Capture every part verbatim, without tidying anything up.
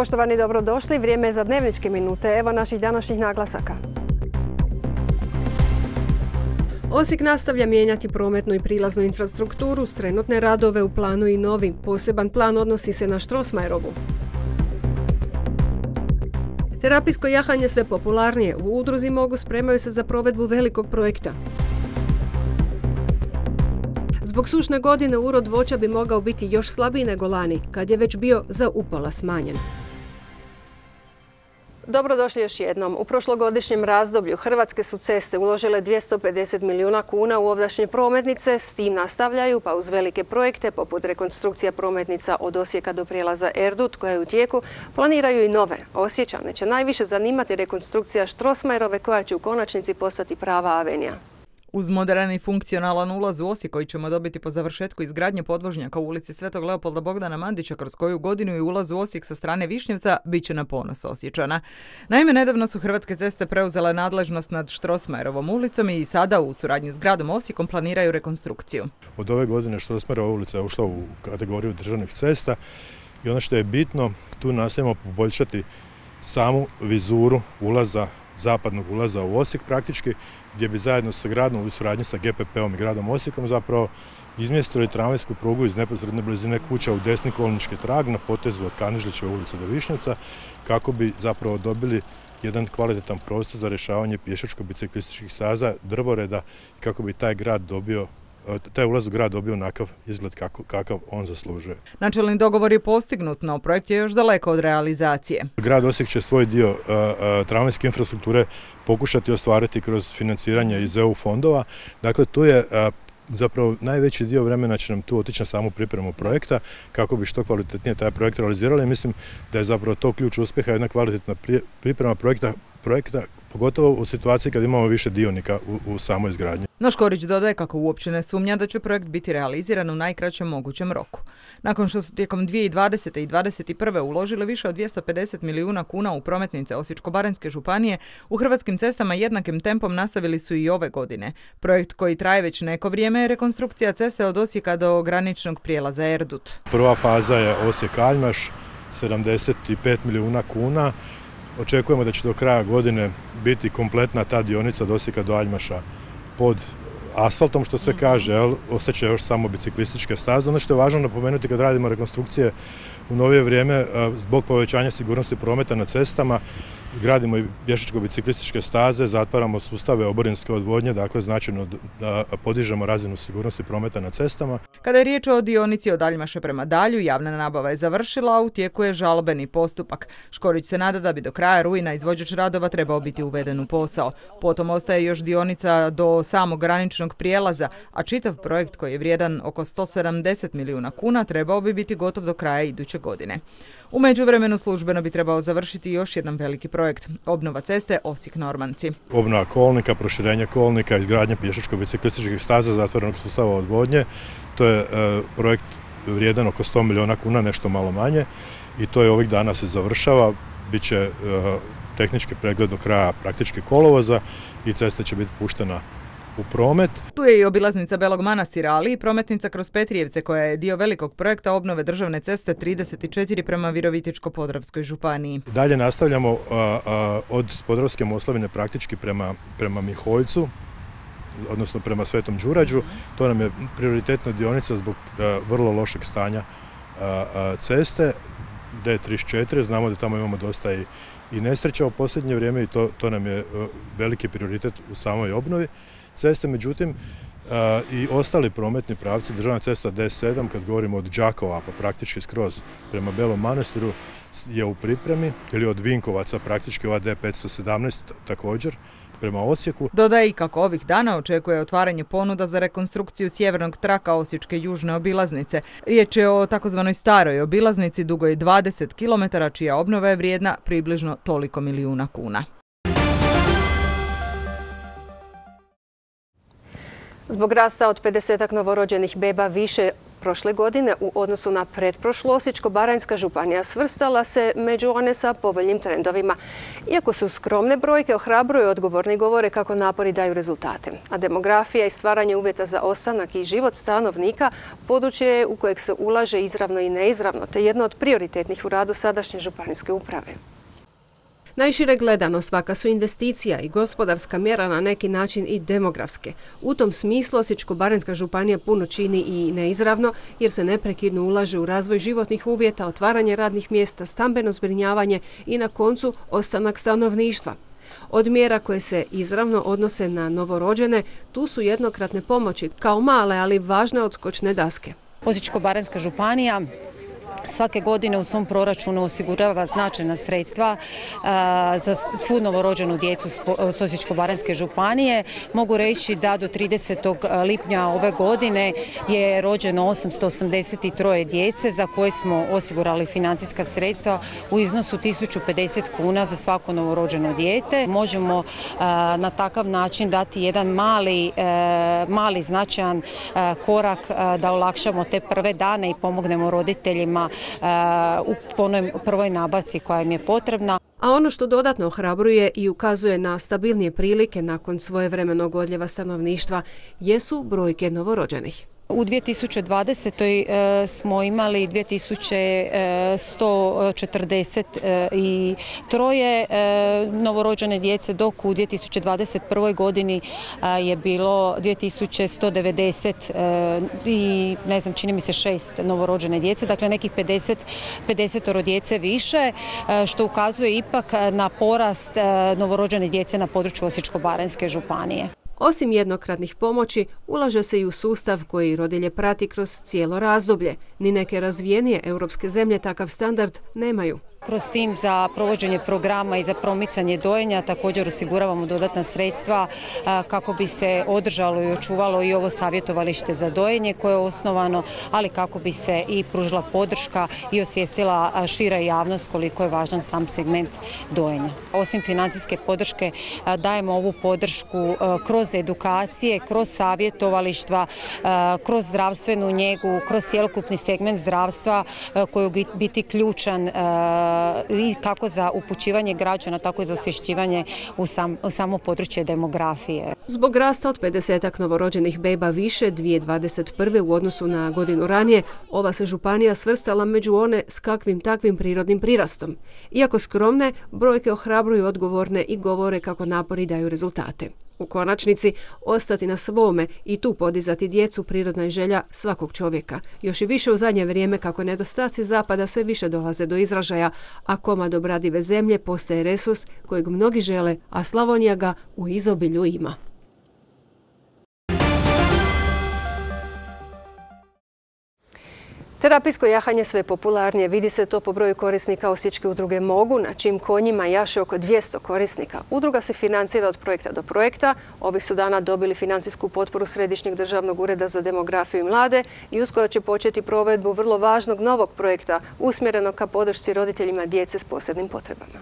Poštovani, dobrodošli. Vrijeme je za dnevničke minute. Evo naših današnjih naglasaka. Osijek nastavlja mijenjati prometnu i prilaznu infrastrukturu, s trenutne radove u planu i novi. Poseban plan odnosi se na Strossmayerovu. Terapijsko jahanje sve popularnije. U udruzi Mogu spremaju se za provedbu velikog projekta. Zbog sušne godine urod voća bi mogao biti još slabiji nego lani, kad je već bio za upola smanjen. Dobrodošli još jednom. U prošlogodišnjem razdoblju Hrvatske su ceste uložile dvjesto pedeset milijuna kuna u ovdašnje prometnice, s tim nastavljaju pa uz velike projekte poput rekonstrukcija prometnica od Osijeka do prijelaza Erdut koja je u tijeku, planiraju i nove. Osječane će najviše zanimati rekonstrukcija Strossmayerove koja će u konačnici postati prava avenija. Uz moderan i funkcionalan ulaz u Osijek koji ćemo dobiti po završetku izgradnje podvožnjaka u ulici Svetog Leopolda Bogdana Mandića, kroz koju godinu i ulaz u Osijek sa strane Višnjevca, bit će na ponos Osječana. Naime, nedavno su Hrvatske ceste preuzele nadležnost nad Strossmayerovom ulicom i sada u suradnji s gradom Osijekom planiraju rekonstrukciju. Od ove godine Strossmayerova ulica je ušla u kategoriju državnih cesta i ono što je bitno, tu nastavimo poboljšati samu vizuru ulaza, zapadnog ulaza u Osijek praktički, gdje bi zajedno sa gradom u suradnji sa G P P-om i gradom Osijekom zapravo izmjestili tramvajsku prugu iz neposredne blizine kuća u desni kolnički trag na potezu od Kanežlićeve ulice do Višnjevca, kako bi zapravo dobili jedan kvalitetan prostor za rješavanje pješačko-biciklističkih staza, drvoreda i kako bi taj grad dobio taj ulaz u grad dobio onakav izgled kako, kakav on zaslužuje. Načelni dogovor je postignut, no projekt je još daleko od realizacije. Grad Osijek će svoj dio uh, uh, tramvajske infrastrukture pokušati ostvariti kroz financiranje iz E U fondova. Dakle, tu je uh, zapravo najveći dio vremena će nam tu otići na samu pripremu projekta kako bi što kvalitetnije taj projekt realizirali. Mislim da je zapravo to ključ uspjeha, jedna kvalitetna priprema projekta, projekta pogotovo u situaciji kad imamo više dionika u, u samoj izgradnji. No Škorić dodaje kako uopće ne sumnja da će projekt biti realiziran u najkraćem mogućem roku. Nakon što su tijekom dvije tisuće dvadesete i dvadeset prve uložili više od dvjesto pedeset milijuna kuna u prometnice Osječko-baranjske županije, u Hrvatskim cestama jednakim tempom nastavili su i ove godine. Projekt koji traje već neko vrijeme je rekonstrukcija ceste od Osijeka do graničnog prijelaza Erdut. Prva faza je Osijek-Aljmaš, sedamdeset pet milijuna kuna. Očekujemo da će do kraja godine biti kompletna ta dionica od Osijeka do Aljmaša pod asfaltom, što se kaže, jel, ostaće još samo biciklističke staze. Ono što je važno napomenuti kad radimo rekonstrukcije u novije vrijeme, zbog povećanja sigurnosti prometa na cestama, gradimo i pješačko-biciklističke staze, zatvaramo sustave oborinske odvodnje, dakle značajno podižemo razinu sigurnosti prometa na cestama. Kada je riječ o dionici od Aljmaša prema Dalju, javna nabava je završila, a u tijeku je žalbeni postupak. Škorić se nada da bi do kraja rujna izvođač radova trebao biti uveden u posao. Potom ostaje još dionica do samog graničnog prijelaza, a čitav projekt koji je vrijedan oko sto sedamdeset milijuna kuna trebao bi biti gotov do kraja iduće godine. U međuvremenu službeno bi trebao završiti još jedan veliki projekt, obnova ceste Osijek-Normanci. Obnova kolnika, proširenje kolnika, izgradnja pješačko-biciklističkih staza, zatvorenog sustava odvodnje. To je e, projekt vrijedan oko sto milijuna kuna, nešto malo manje, i to je ovih dana se završava. Biće e, tehnički pregled do kraja praktički kolovoza i cesta će biti puštena u promet. Tu je i obilaznica Belog Manastira, ali i prometnica kroz Petrijevce koja je dio velikog projekta obnove državne ceste trideset četiri prema Virovitičko-podravskoj županiji. Dalje nastavljamo a, a, od Podravske Moslavine praktički prema, prema Miholjcu, odnosno prema Svetom Đurađu. To nam je prioritetna dionica zbog a, vrlo lošeg stanja a, a, ceste D trideset četiri. Znamo da tamo imamo dosta i, i nesreća u posljednje vrijeme i to, to nam je a, veliki prioritet u samoj obnovi ceste. Međutim, a, i ostali prometni pravci, državna cesta D sedam, kad govorimo od Đakova pa praktički skroz prema Belom Manastiru, je u pripremi, ili od Vinkovaca praktički ova D petsto sedamnaest također prema Osijeku. Dodaje i kako ovih dana očekuje otvaranje ponuda za rekonstrukciju sjevernog traka Osječke južne obilaznice. Riječ je o takozvanoj staroj obilaznici dugoj dvadeset kilometara, čija obnova je vrijedna približno toliko milijuna kuna. Zbog rasta od pedesetak novorođenih beba više Prošle godine u odnosu na pretprošlu Osječko-baranjska županija svrstala se među one sa povoljnim trendovima. Iako su skromne brojke, ohrabruju odgovorni govore kako napori daju rezultate. A demografija i stvaranje uvjeta za ostanak i život stanovnika područje je u kojeg se ulaže izravno i neizravno, te jedno od prioritetnih u radu sadašnje županijske uprave. Najšire gledano, svaka su investicija i gospodarska mjera na neki način i demografske. U tom smislu Osječko-baranjska županija puno čini i neizravno jer se neprekidno ulaže u razvoj životnih uvjeta, otvaranje radnih mjesta, stambeno zbrinjavanje i na koncu ostanak stanovništva. Od mjera koje se izravno odnose na novorođene, tu su jednokratne pomoći kao male, ali važne odskočne daske. Osječko-baranjska županija svake godine u svom proračunu osigurava značajna sredstva za svu novorođenu djecu s Osječko-baranjske županije. Mogu reći da do tridesetog lipnja ove godine je rođeno osamsto osamdeset tri djece za koje smo osigurali financijska sredstva u iznosu tisuću pedeset kuna za svako novorođeno dijete. Možemo na takav način dati jedan mali, mali značajan korak da olakšamo te prve dane i pomognemo roditeljima u onoj prvoj nabavci koja im je potrebna. A ono što dodatno ohrabruje i ukazuje na stabilnije prilike nakon svojevremenog odljeva stanovništva jesu brojke novorođenih. U dvije tisuće dvadesetoj smo imali dvije tisuće sto četrdeset tri novorođene djece, dok u dvije tisuće dvadeset prvoj godini je bilo dvije tisuće sto devedeset i ne znam, čini mi se šest novorođene djece, dakle nekih pedeset, pedeset djece više, što ukazuje ipak na porast novorođene djece na području Osječko-baranjske županije. Osim jednokratnih pomoći, ulaže se i u sustav koji rodilje prati kroz cijelo razdoblje. Ni neke razvijenije europske zemlje takav standard nemaju. Kroz tim za provođenje programa i za promicanje dojenja također osiguravamo dodatna sredstva kako bi se održalo i očuvalo i ovo savjetovalište za dojenje koje je osnovano, ali kako bi se i pružila podrška i osvijestila šira javnost koliko je važan sam segment dojenja. Osim financijske podrške dajemo ovu podršku kroz edukacije, kroz savjetovalištva, kroz zdravstvenu njegu, kroz cjelokupni segment zdravstva koji će biti ključan i kako za upućivanje građana, tako i za osvješćivanje u, sam, u samo područje demografije. Zbog rasta od pedesetak novorođenih beba više dvije tisuće dvadeset prve u odnosu na godinu ranije, ova se županija svrstala među one s kakvim takvim prirodnim prirastom. Iako skromne, brojke ohrabruju odgovorne i govore kako napori daju rezultate. U konačnici, ostati na svome i tu podizati djecu prirodna je želja svakog čovjeka. Još i više u zadnje vrijeme kako nedostaci zapada sve više dolaze do izražaja, a komad obradive zemlje postaje resurs kojeg mnogi žele, a Slavonija ga u izobilju ima. Terapijsko jahanje sve popularnije, vidi se to po broju korisnika Osječke udruge Mogu, na čim konjima jaše oko dvjesto korisnika. Udruga se financira od projekta do projekta. Ovih su dana dobili financijsku potporu Središnjeg državnog ureda za demografiju i mlade i uskoro će početi provedbu vrlo važnog novog projekta usmjerenog ka podršci roditeljima djece s posebnim potrebama.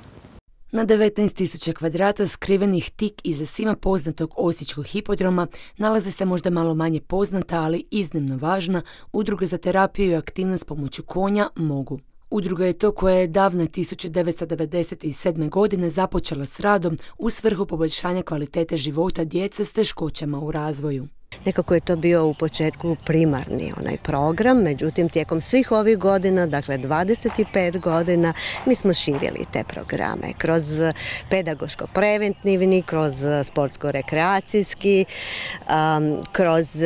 Na devetnaest tisuća kvadrata skrivenih tik iza svima poznatog osječkog hipodroma nalazi se možda malo manje poznata, ali iznimno važna udruga za terapiju i aktivnost pomoću konja Mogu. Udruga je to koja je davne tisuće devetsto devedeset sedme. godine započela s radom u svrhu poboljšanja kvalitete života djece s teškoćama u razvoju. Nekako je to bio u početku primarni onaj program, međutim tijekom svih ovih godina, dakle dvadeset pet godina, mi smo širili te programe kroz pedagoško-preventivni, kroz sportsko-rekreacijski, um, kroz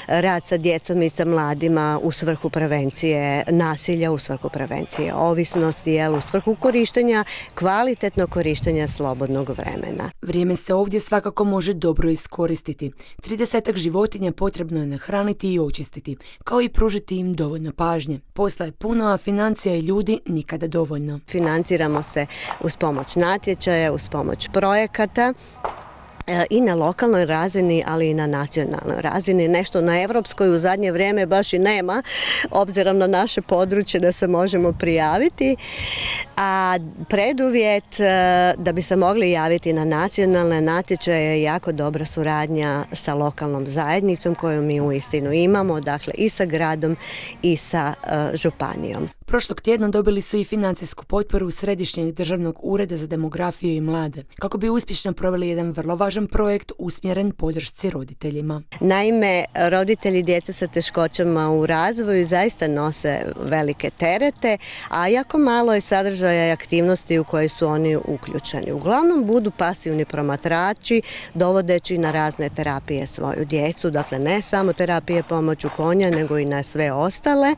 rad sa djecom i sa mladima u svrhu prevencije nasilja, u svrhu prevencije ovisnosti, jel, u svrhu korištenja, kvalitetnog korištenja slobodnog vremena. Vrijeme se ovdje svakako može dobro iskoristiti. tridesetak životinja potrebno je nahraniti i očistiti, kao i pružiti im dovoljno pažnje. Posla je puno, a financija i ljudi nikada dovoljno. Financiramo se uz pomoć natječaja, uz pomoć projekata. i na lokalnoj razini, ali i na nacionalnoj razini. Nešto na evropskoj u zadnje vrijeme baš i nema, obzirom na naše područje da se možemo prijaviti. A preduvjet da bi se mogli javiti na nacionalne natječaje je jako dobra suradnja sa lokalnom zajednicom koju mi uistinu imamo, dakle i sa gradom i sa županijom. Prošlog tjedna dobili su i financijsku potporu Središnjeg državnog ureda za demografiju i mlade, kako bi uspješno proveli jedan vrlo važan projekt usmjeren podršci roditeljima. Naime, roditelji djece sa teškoćama u razvoju zaista nose velike terete, a jako malo je sadržaja i aktivnosti u koje su oni uključeni. Uglavnom budu pasivni promatrači, dovodeći na razne terapije svoju djecu, dakle ne samo terapije pomoću konja, nego i na sve ostale,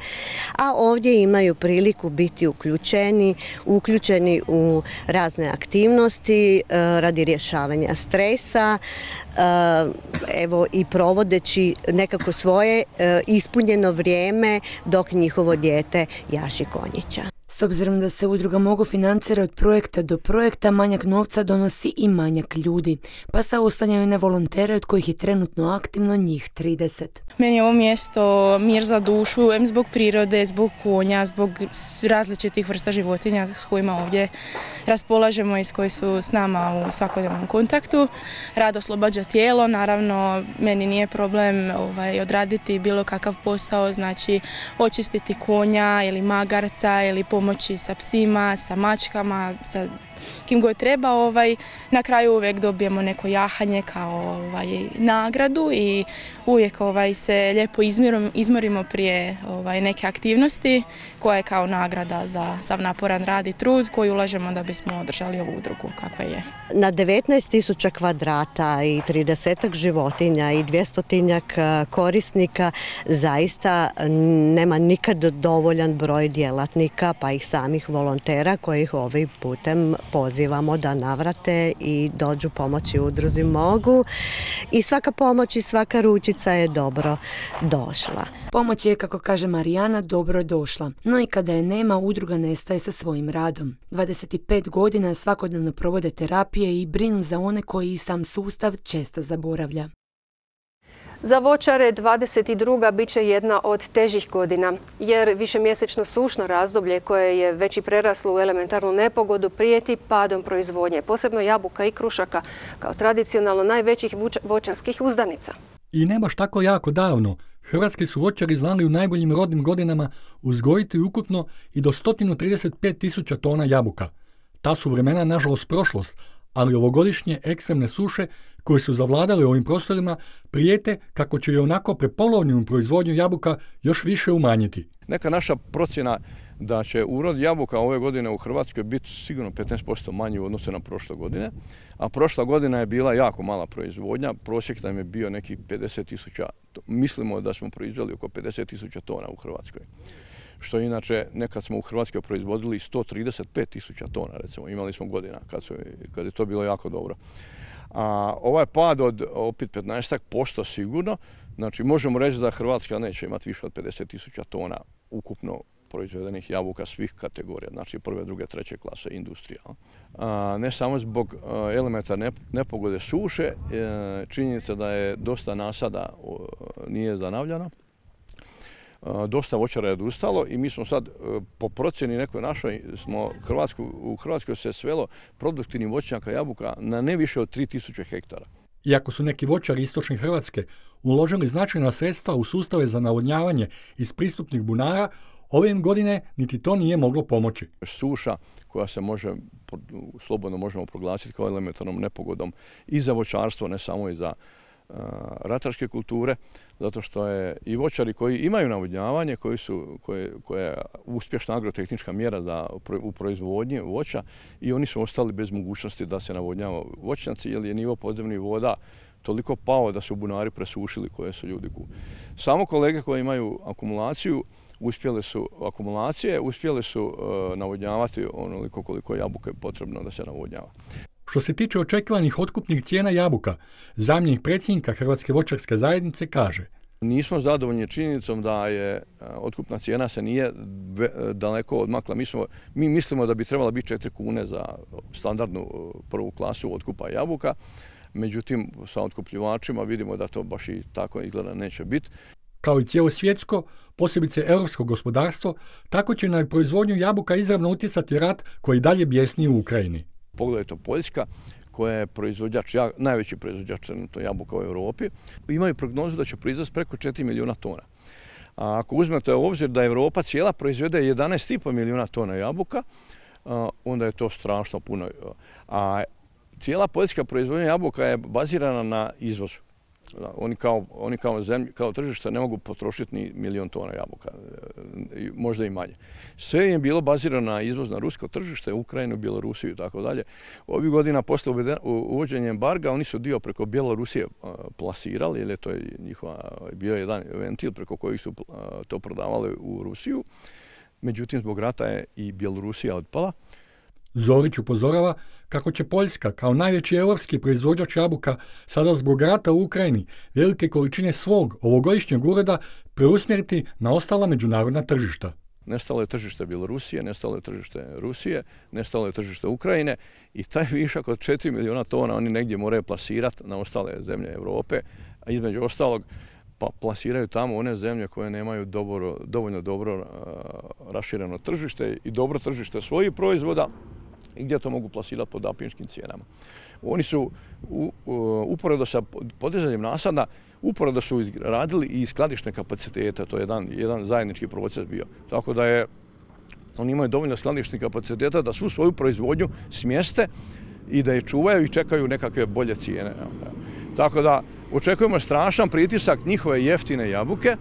a ovdje imaju priliku biti uključeni, uključeni u razne aktivnosti radi rješavanja stresa, evo i provodeći nekako svoje ispunjeno vrijeme dok njihovo dijete jaši konjića. S obzirom da se udruga mogu financirati od projekta do projekta, manjak novca donosi i manjak ljudi, pa se oslanjaju na volontere od kojih je trenutno aktivno njih trideset. Meni je ovo mjesto mir za dušu, em zbog prirode, zbog konja, zbog različitih vrsta životinja s kojima ovdje raspolažemo i s koji su s nama u svakodnevnom kontaktu. Rad oslobađa tijelo, naravno meni nije problem ovaj, odraditi bilo kakav posao, znači očistiti konja ili magarca ili pomoći sa psima, sa mačkama, sa kim god treba. Ovaj, na kraju uvijek dobijemo neko jahanje kao ovaj, nagradu i uvijek ovaj, se lijepo izmirimo, izmorimo prije ovaj, neke aktivnosti koja je kao nagrada za sav naporan rad i trud koji ulažemo da bismo održali ovu udrugu kakva je. Na devetnaest tisuća kvadrata i tridesetak životinja i dvjestotinjak korisnika zaista nema nikad dovoljan broj djelatnika pa i samih volontera kojih ovim putem pozivamo da navrate i dođu pomoći udruzi mogu i svaka pomoć i svaka ručica je dobro došla. Pomoć je, kako kaže Marijana, dobro došla, no i kada je nema, udruga nestaje sa svojim radom. dvadeset pet godina svakodnevno provode terapije i brinu za one koji i sam sustav često zaboravlja. Za voćare dvadeset druga bit će jedna od težih godina, jer višemjesečno sušno razdoblje koje je već i preraslo u elementarnu nepogodu prijeti padom proizvodnje, posebno jabuka i krušaka, kao tradicionalno najvećih voćarskih uzdanica. I ne baš tako jako davno, hrvatski su voćari znali u najboljim rodnim godinama uzgojiti ukupno i do sto trideset pet tisuća tona jabuka. Ta su vremena nažalost prošlost, ali ovogodišnje ekstremne suše koje su zavladale ovim prostorima prijete kako će i onako prepolovljenu proizvodnju jabuka još više umanjiti. Neka naša procjena da će urod jabuka ove godine u Hrvatskoj biti sigurno petnaest posto manji u odnosu na prošle godine, a prošla godina je bila jako mala proizvodnja, prosjek nam je bio nekih pedeset tisuća, mislimo da smo proizveli oko pedeset tisuća tona u Hrvatskoj. Što inače nekad smo u Hrvatskoj proizvodili sto trideset pet tisuća tona, recimo, imali smo godina kad, su, kad je to bilo jako dobro. A ovaj pad od opet petnaest posto sigurno, znači možemo reći da Hrvatska neće imati više od pedeset tisuća tona ukupno proizvedenih jabuka svih kategorija, znači prve, druge, treće klase industrija. A, ne samo zbog elementarne nepogode suše, činjenica da je dosta nasada nije zanavljano. Dosta voćara je odustalo i mi smo sad po procjeni nekoj našoj smo Hrvatsku, u Hrvatskoj se svelo produktivnih voćnjaka jabuka na ne više od tri tisuće hektara. Iako su neki voćari istočne Hrvatske uložili značajna sredstva u sustave za navodnjavanje iz pristupnih bunara, ove godine niti to nije moglo pomoći. Suša koja se može, slobodno možemo proglasiti kao elementarnom nepogodom i za voćarstvo, ne samo i za ratarske kulture, zato što je i voćari koji imaju navodnjavanje, koji su, koje, koja je uspješna agrotehnička mjera za, u proizvodnji voća i oni su ostali bez mogućnosti da se navodnjava voćnjaci jer je nivo podzemnih voda toliko pao da su bunari presušili koje su ljudi kupili. Samo kolege koji imaju akumulaciju uspjeli su akumulacije, uspjeli su uh, navodnjavati onoliko koliko jabuka je potrebno da se navodnjava. Što se tiče očekivanih otkupnih cijena jabuka, zamjenik predsjednika Hrvatske voćarske zajednice kaže: Nismo zadovoljni činjenicom da je otkupna cijena se nije daleko odmakla. Mi, smo, mi mislimo da bi trebala biti četiri kune za standardnu prvu klasu otkupa jabuka. međutim sa otkupljivačima vidimo da to baš i tako izgleda neće biti. Kao i cijelo svjetsko, posebice europsko gospodarstvo, tako će na proizvodnju jabuka izravno utjecati rat koji dalje bjesni u Ukrajini. Pogledajte Poljska, koja je proizvođač, najveći proizvođač jabuka u Europi, imaju prognozu da će proizvesti preko četiri milijuna tona. A ako uzmete u obzir da Europa cijela proizvede jedanaest i pol milijuna tona jabuka, onda je to strašno puno. A cijela poljska proizvodnja jabuka je bazirana na izvozu. Oni kao, oni kao, zemlji, kao tržište ne mogu potrošiti ni milijon tona jabuka, možda i manje. Sve je bilo bazirano na izvoz na rusko tržište, Ukrajinu, Bjelorusiju i tako dalje. Ovih godina posle uvođenja embarga oni su dio preko Bjelorusije plasirali, jer je to njihova, bio jedan ventil preko kojih su to prodavali u Rusiju. Međutim, zbog rata je i Bjelorusija otpala. Zorić upozorava kako će Poljska, kao najveći europski proizvođač jabuka, sada zbog rata u Ukrajini velike količine svog ovogodišnjeg uroda preusmjeriti na ostala međunarodna tržišta. Nestalo je tržište Bjelorusije, nestalo je tržište Rusije, nestalo je tržište Ukrajine i taj višak od četiri milijuna tona oni negdje moraju plasirati na ostale zemlje Europe, a između ostalog pa plasiraju tamo one zemlje koje nemaju dobro, dovoljno dobro uh, rašireno tržište i dobro tržište svojih proizvoda i gdje to mogu plasirati po dampinškim cijenama. Oni su u, u, uporedo sa podizanjem nasada, uporedo su radili i skladišne kapacitete, to je jedan, jedan zajednički proces bio. Tako da je, oni imaju dovoljno skladišnih kapaciteta da svu svoju proizvodnju smjeste i da je čuvaju i čekaju nekakve bolje cijene. Tako da očekujemo strašan pritisak njihove jeftine jabuke,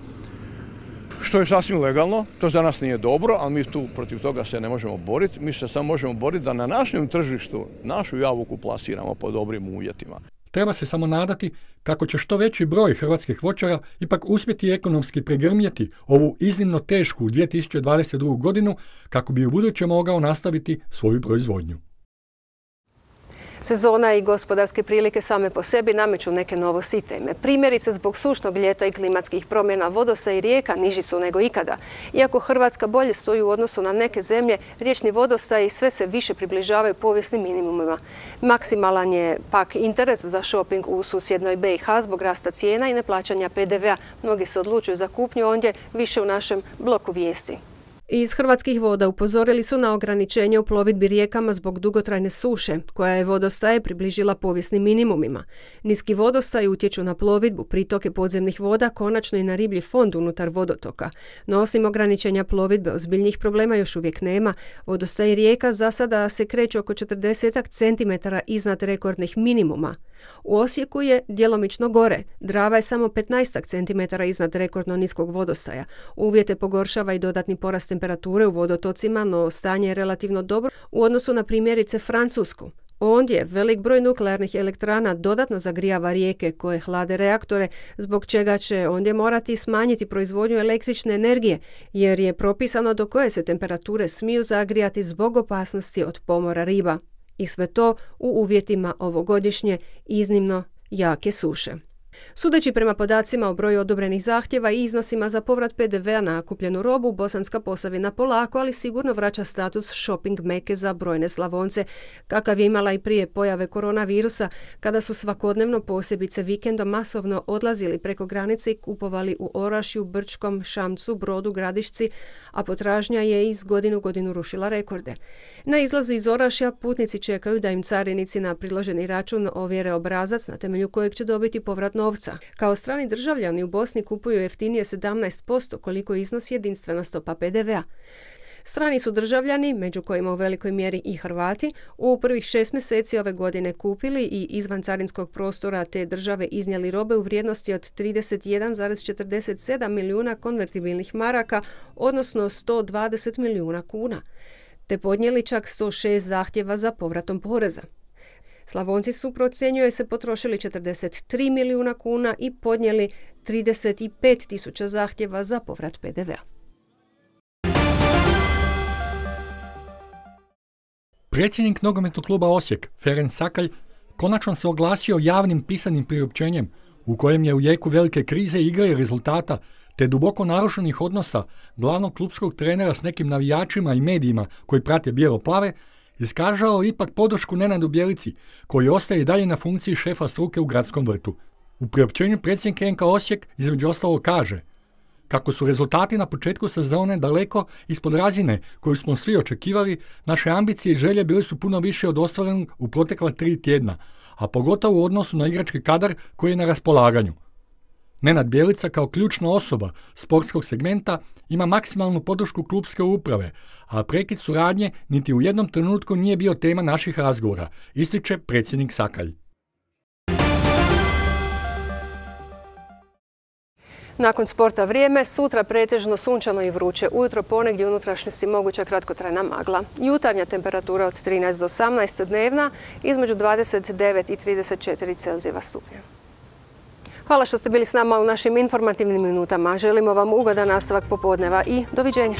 što je sasvim legalno, to za nas nije dobro, ali mi tu protiv toga se ne možemo boriti. Mi se samo možemo boriti da na našem tržištu našu jabuku plasiramo po dobrim uvjetima. Treba se samo nadati kako će što veći broj hrvatskih voćara ipak uspjeti ekonomski pregrmjeti ovu iznimno tešku dvije tisuće dvadeset drugu. godinu kako bi u buduće mogao nastaviti svoju proizvodnju. Sezona i gospodarske prilike same po sebi nameću neke novosti i teme. Primjerice, zbog sušnog ljeta i klimatskih promjena vodostaji rijeka niži su nego ikada. Iako Hrvatska bolje stoji u odnosu na neke zemlje, riječni vodostaji sve se više približavaju povijesnim minimumima. Maksimalan je pak interes za šoping u susjednoj B i H zbog rasta cijena i neplaćanja P D V-a. Mnogi se odlučuju za kupnju ondje, više u našem bloku vijesti. Iz Hrvatskih voda upozorili su na ograničenje u plovidbi rijekama zbog dugotrajne suše, koja je vodostaje približila povijesnim minimumima. Niski vodostaji utječu na plovidbu, pritoke podzemnih voda, konačno i na riblji fond unutar vodotoka. No osim ograničenja plovidbe, ozbiljnih problema još uvijek nema. Vodostaji rijeka za sada se kreću oko četrdeset centimetara iznad rekordnih minimuma. U Osijeku je djelomično gore. Drava je samo petnaest centimetara iznad rekordno niskog vodostaja. Uvjete pogoršava i dodatni porast temperature u vodotocima, no stanje je relativno dobro u odnosu na primjerice Francusku. Ondje velik broj nuklearnih elektrana dodatno zagrijava rijeke koje hlade reaktore, zbog čega će ondje morati smanjiti proizvodnju električne energije, jer je propisano do koje se temperature smiju zagrijati zbog opasnosti od pomora riba. I sve to u uvjetima ovogodišnje iznimno jake suše. Sudeći prema podacima o broju odobrenih zahtjeva i iznosima za povrat P D V-a na kupljenu robu, Bosanska Posavina polako, ali sigurno vraća status shopping meke za brojne Slavonce, kakav je imala i prije pojave koronavirusa, kada su svakodnevno, posebice vikendom, masovno odlazili preko granice i kupovali u Orašju, Brčkom, Šamcu, Brodu, Gradišci, a potražnja je iz godinu godinu rušila rekorde. Na izlazu iz Orašja putnici čekaju da im carinici na priloženi račun ovjere obrazac na temelju kojeg će dobiti povrat novca. Kao strani državljani u Bosni kupuju jeftinije sedamnaest posto koliko iznosi jedinstvena stopa P D V-a. Strani su državljani, među kojima u velikoj mjeri i Hrvati, u prvih šest mjeseci ove godine kupili i izvan carinskog prostora te države iznijeli robe u vrijednosti od trideset jedan zarez četrdeset sedam milijuna konvertibilnih maraka, odnosno sto dvadeset milijuna kuna, te podnijeli čak sto šest zahtjeva za povratom poreza. Slavonci su, procjenjuje se, potrošili četrdeset tri milijuna kuna i podnijeli trideset pet tisuća zahtjeva za povrat P D V-a. Predsjednik nogometnog kluba Osijek, Ferenc Sakalj, konačno se oglasio javnim pisanim priopćenjem u kojem je u jeku velike krize igre i rezultata te duboko narušenih odnosa glavnog klubskog trenera s nekim navijačima i medijima koji prate bijelo-plave, iskazao ipak podršku Nenadu Bjelici, koji ostaje i dalje na funkciji šefa struke u gradskom vrtu. U priopćenju predsjednik N K Osijek između ostalog kaže kako su rezultati na početku sezone daleko ispod razine koju smo svi očekivali, naše ambicije i želje bili su puno više od ostvarenog u protekla tri tjedna, a pogotovo u odnosu na igrački kadar koji je na raspolaganju. Nenad Bjelica kao ključna osoba sportskog segmenta ima maksimalnu podršku klubske uprave, a prekid suradnje niti u jednom trenutku nije bio tema naših razgovora, ističe predsjednik Sakalj. Nakon sporta vrijeme, sutra pretežno sunčano i vruće. Ujutro ponegdje u unutrašnjosti moguća kratkotrajna magla. Jutarnja temperatura od trinaest do osamnaest, dnevna između dvadeset devet i trideset četiri Celzijeva stupnja. Hvala što ste bili s nama u našim informativnim minutama. Želimo vam ugodan nastavak popodneva i doviđenja.